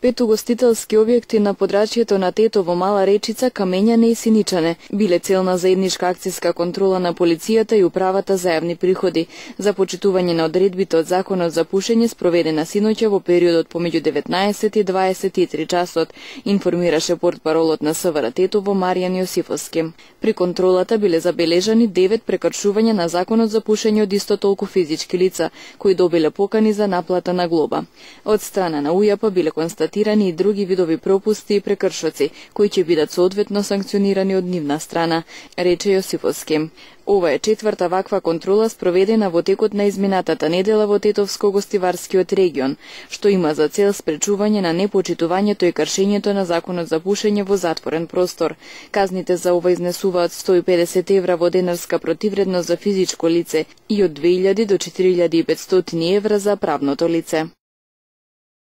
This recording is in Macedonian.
5 угостителски објекти на подрачјето на Тетово, Мала Речица, Камењане и Синичане биле цел на заедничка акцијска контрола на полицијата и управата за јавни приходи за почитување на одредбите од Законот за пушење, спроведена синоќа во периодот помеѓу 19 и 23 часот, информираше портпаролот на СВР Тетово Маријан Јосифовски. При контролата биле забележани 9 прекршувања на Законот за пушење од исто толку физички лица, кои добиле покани за наплата на глоба. Од страна на УЈАП биле констатирани и други видови пропусти и прекршоци, кои ќе бидат соодветно санкционирани од нивна страна, рече Јосифовски. Ова е четврта ваква контрола спроведена во текот на изминатата недела во Тетовско-гостиварскиот регион, што има за цел спречување на непочитувањето и кршењето на Законот за пушење во затворен простор. Казните за ова изнесуваат 150 евра во денарска противредност за физичко лице и од 2000 до 4500 евра за правното лице.